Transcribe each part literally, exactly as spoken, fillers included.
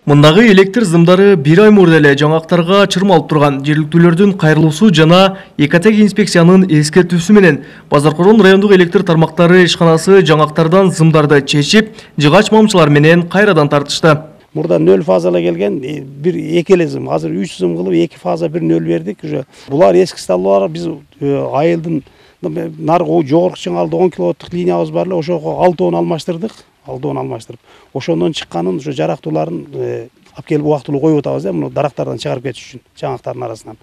Мындагы электр зымдары бир ай мурда эле жаңактарга чырмалып турган жергиликтүүлөрдүн кайрылуусу жана Экотех инспекциянын эскертүүсү менен Базаркорон райондук электр тармактары ишканасы жаңактардан зымдарды чечип, жыгач мамчылар менен кайрадан тартышты. Мурда нөл фазала келген, бир эки эле зым, азыр үч зым кылып эки фаза бир нөл бердик уже. Булар эски столбалар, биз айылдын наркы жогорку чыңалды он киловаттык линиябыз бар эле, ошого алтыон алмаштырдык. Алтыон алмаштырып, ошондон чыкканын ошо жарактууларын алып келип убактылуу коюп атабыз да, муну дарактардан чыгарып кетиш үчүн, жаңактардын арасынан.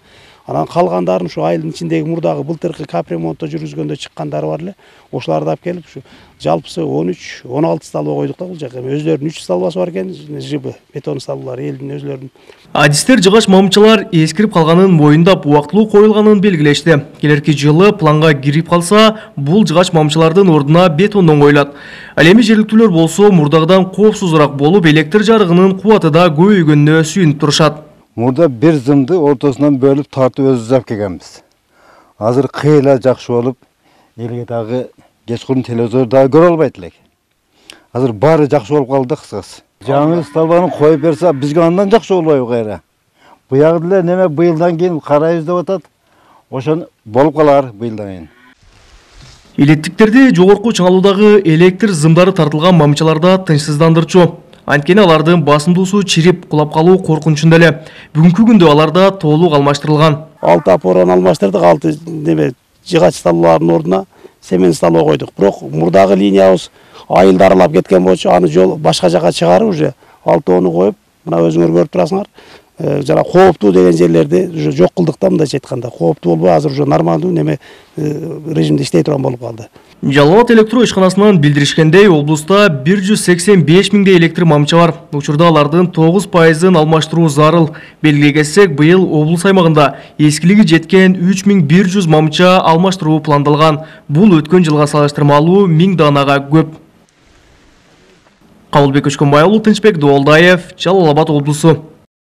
Анан калгандарын ушу айылдын ичиндеги мурдагы былтыркы капремонтто жүргүзгөндө чыккандары бар эле. Ошоларды алып келип ушу жалпысы он үч он алты столба койдук да бул жака. Өзлөрүнүн үч столбасы бар экен, жыбы, бетон столбалар элдин өзлөрүнүн. Адистер жыгач мамчылар эскирип калганын моюндап убактылуу коюлганын белгилешти. Келерки жылы планга кирип калса, бул жыгач мамчылардын ордуна бетондон коюлат. Ал эми жергиликтүүлөр болсо мурдагыдан коопсузураак болуп, электр жарыгынын кубаты да көбөйгөнүнө сүйүнүп турушат. Мурда бир зымды ортосунан бөлүп тартып өзүбүз алып келгенбиз. Азыр кыйла жакшы болуп, элге дагы кечкурун телевизор дагы көрө албайт элек. Азыр баары жакшы болуп калды кыскасы. Жаңы столбаны коюп берсе, бизге андан жакшы болбойбу кайра. Буягы деле неме быйылдан кийин карайбыз деп атат. Ошон болуп калар быйылдан кийин. Электиктерди жогорку чыңалуудагы электр зымдары тартылган мамчаларда тынчсыздандырчу. Анткени алардын басымдуусу чирип кулап калуу коркунучунда эле. Бүгүнкү күндө аларда толук алмаштырылган. алты опорон алмаштырдык, алты неме жыгач столбалардын ордуна семен столба койдук. Бирок мурдагы линиябыз айылды аралап кеткен болчу, аны жол башка жака чыгарып уже алтоону коюп, мына өзүңөр көрүп турасыңар. Жана кооптуу деген жерлерди уже жок кылдык да, мындай айтканда. Кооптуу болбой, азыр уже нормалдуу неме режимде иштей турган болуп калды. Жалал Абад электро ишканасынан билдиришкендей, облуста бир жүз сексен беш миңдей электр мамча бар. Учурда алардын тогуз пайызын алмаштыруу зарыл. Белгилей кетсек, быйыл облус аймагында эскилиги жеткен үч миң бир жүз мамча алмаштыруу пландалган. Бул өткөн жылга салыштырмалуу миң данага көп. Кабылбек Өчкөнбай уулу, Тынчбек Доолдаев, Жалал Абад облусу.